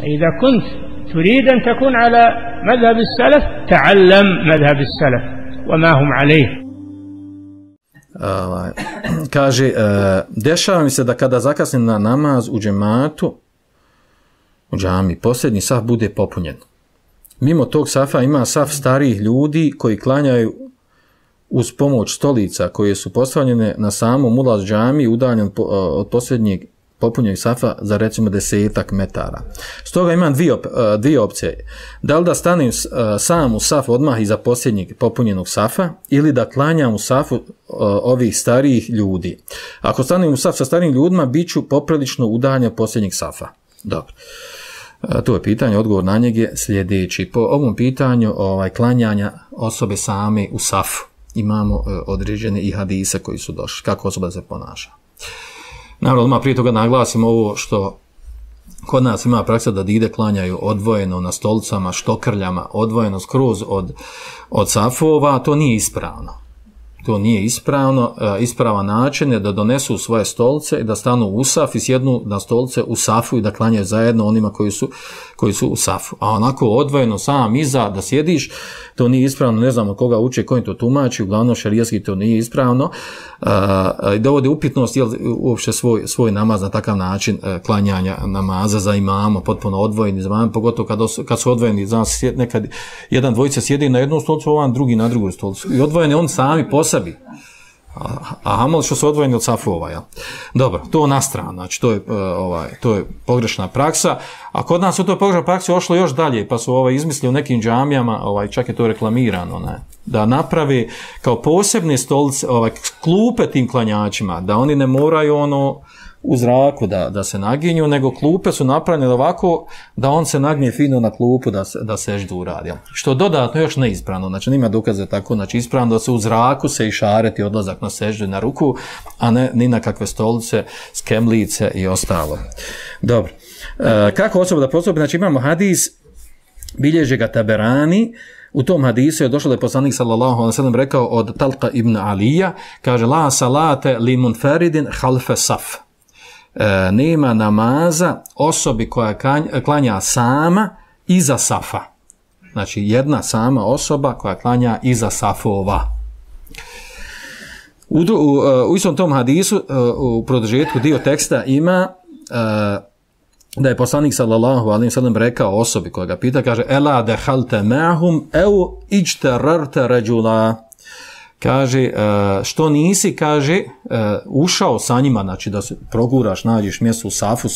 إذا كنت تريد أن تكون على مذهب السلف تعلم مذهب السلف وما هم عليه. Kaže, dešava mi se da kada zakasnim na namaz u džematu, u džami, posljednji saf bude popunjen. Mimo tog safa ima saf starijih ljudi koji klanjaju uz pomoć stolica koje su postavljene na samom ulazu džami, udaljen od posljednjeg popunjenog safa za recimo 10 metara. Stoga imam dvije opcije. Da li da stanem sam u saf odmah iza posljednjeg popunjenog safa ili da klanjam u safu ovih starijih ljudi. Ako stanem u saf sa starijim ljudima, bit ću poprilično udaljen od posljednjeg safa. Dobro. To je pitanje, odgovor na njeg je sljedeći. Po ovom pitanju klanjanja osobe same u safu imamo određene i hadise koji su došli. Kako osoba se ponaša. Naravno, odmah prije toga naglasimo ovo što kod nas ima praksa da dide klanjaju odvojeno na stolicama, štokrljama, odvojeno skroz od safova, to nije ispravno. To nije ispravno. Ispravan način je da donesu svoje stolice i da stanu u saf i sjednu na stolice u safu i da klanjaju zajedno onima koji su u safu. A onako odvojeno sam iza da sjediš, to nije ispravno, ne znam od koga uče, kojim to tumači, uglavnom šarijatski to nije ispravno. Dovodi upitnost jel uopće svoj namaz na takav način klanjanja namaza za imama, potpuno odvojeni za imama, pogotovo kad su odvojeni, znači nekad jedan dvojica sjedi na jednu stolicu, ovan drugi na drugu stolicu. I odvojeni on sami po sebi. A hamal što su odvojeni od safova, ja. Dobro, to na stranu, znači to je pogrešna praksa, a kod nas u toj pogrešnoj praksi ošlo još dalje, pa su izmislili u nekim džamijama, čak je to reklamirano, ne, da napravi kao posebne stolice, klupe tim klanjačima, da oni ne moraju u zraku da se naginju, nego klupe su napravljene ovako da on se nagnje fino na klupu da seždu uradi. Što dodatno još neispravno, znači nima dokaze tako, znači ispravno da se u zraku se išareti odlazak na seždu na ruku, a ne ni na kakve stolice, skemlice i ostalo. Dobro. Kako osoba da postupi? Znači imamo hadis, bilježe ga Taberani, u tom hadisu je došlo da je poslanik sallallahu alejhi ve sellem rekao od Talqa ibn Alija, kaže la salate li munfaridin khalfa saf. Nema namaza osobi koja klanja sama iza safa. Znači jedna sama osoba koja klanja iza safova. U istom tom hadisu u produžetku dio teksta ima da je poslanik sallallahu alejhi ve sellem rekao osobi koja ga pita, kaže ela dehalte ma'hum au ijtararta rajula. Kaže, što nisi, kaže, ušao sa njima, znači da se proguraš, nađeš mjesto u safu,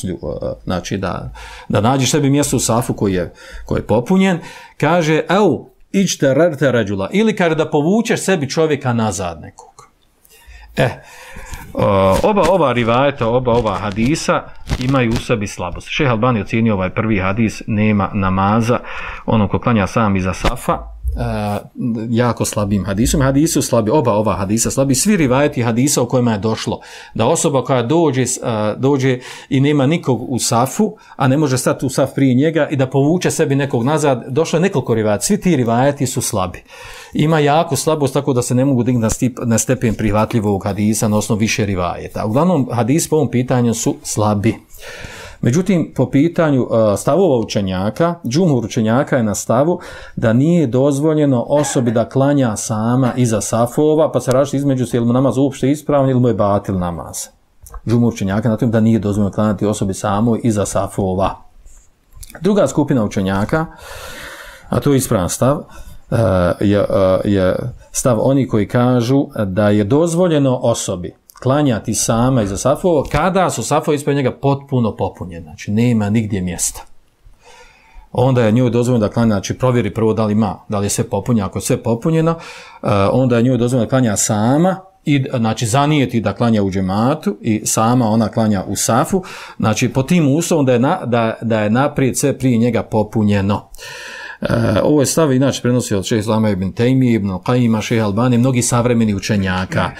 znači da nađeš sebi mjesto u safu koji je popunjen, kaže, evo, iđte rarte rađula, ili kaže da povučeš sebi čovjeka nazad nekog. Oba ova rivajeta, oba ova hadisa imaju u sebi slabost. Šejh Albani ocjenio ovaj prvi hadis, nema namaza, ono ko klanja sam iza safa, jako slabim hadisom. Hadisu slabi, oba ova hadisa slabi, svi rivajeti hadisa o kojima je došlo da osoba koja dođe i nema nikog u safu, a ne može stati u saf prije njega i da povuče sebi nekog nazad, došlo je nekoliko rivajeta, svi ti rivajeti su slabi. Ima jako slabost, tako da se ne mogu dignuti na stepen prihvatljivog hadisa na osnovu više rivajeta. Uglavnom hadis po ovom pitanju su slabi. Međutim, po pitanju stavova učenjaka, džumhur učenjaka je na stavu da nije dozvoljeno osobi da klanja sama iza safova, pa se različiti između se ili mu namaz uopšte ispravan ili mu je batil namaz. Džumhur učenjaka na tom da nije dozvoljeno klanjati osobi samoj iza safova. Druga skupina učenjaka, a to je ispravan stav, je stav oni koji kažu da je dozvoljeno osobi klanjati sama iza safova kada su safovi ispred njega potpuno popunjeni, znači nema nigdje mjesta. Onda je njoj dozvoljeno da klanja, znači provjeri prvo da li je sve popunjeno, ako je sve popunjeno, onda je njoj dozvoljeno da klanja sama, i znači zanijeti da klanja u džematu i sama ona klanja u safu, znači po tim uslovom da je naprijed sve prije njega popunjeno. Ovo je stav inače prenosi od šejha Islama ibn Tejmije, ibn Qajima, šejha Albani, mnogi savremeni učenjaka.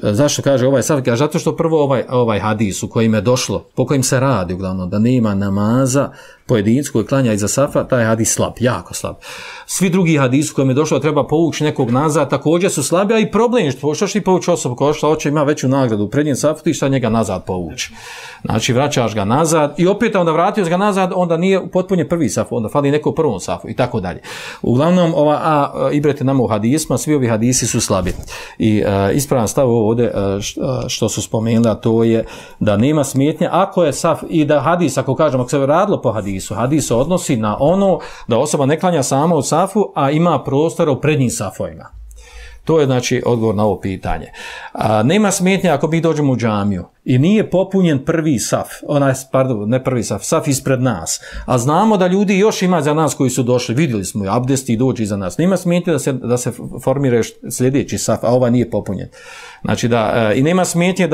Zašto kaže ovaj stav? Kaže zato što prvo ovaj hadis u kojim je došlo, po kojim se radi uglavnom, da nema namaza pojedincu koji klanja iza safa, taj hadis slab, jako slab. Svi drugi hadisi kojim je došlo da treba povući nekog nazad, također su slabi, a i problem što ti povući osobu koja hoće ima veću nagradu u prednjem safu, ti šta njega nazad povući. Znači vraćaš ga nazad i opet onda vratio ga nazad, onda nije potpunjen prvi saf, onda fali neko u prvom safu i tako dalje. Uglavnom, ibrete nam u hadisma, svi ovi hadisi su slabi. I ispravan stav ovdje što su spomenuli, to je da nema smetnje ako je saf i da hadis, ako kažemo, ako se radilo po hadisu, hadis se odnosi na ono da osoba ne klanja sama u safu, a ima prostora u prednjim safovima. To je znači odgovor na ovo pitanje. Nema smetnje ako mi dođemo u džamiju i nije popunjen prvi saf, ne prvi saf, saf ispred nas, a znamo da ljudi još ima za nas koji su došli, vidjeli smo i abdesti i dođi iza nas. Nema smetnje da se formira sljedeći saf, a ovaj nije popunjen. Znači i nema smetnje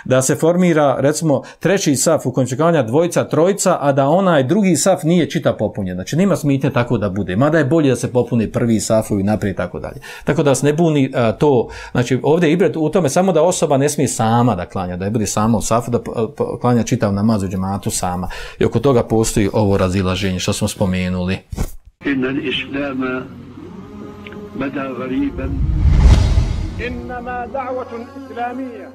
da se formira recimo treći saf u kojem će klanja dvojica, trojica, a da onaj drugi saf nije čita popunjen. Znači nema smetnje tako da bude. Mada je bolje da se popuni prvi safovi naprijed i tako dalje. Tako da se ne buni to. Znači ovdje je ibret u tome samo da osoba ne smije sama da klanja, da je bude sama u safu, da klanja čitav namaz u džematu sama. I oko toga postoji ovo razilaženje što smo spomenuli. Inna al-islama bada ghariban. إنما دعوة إسلامية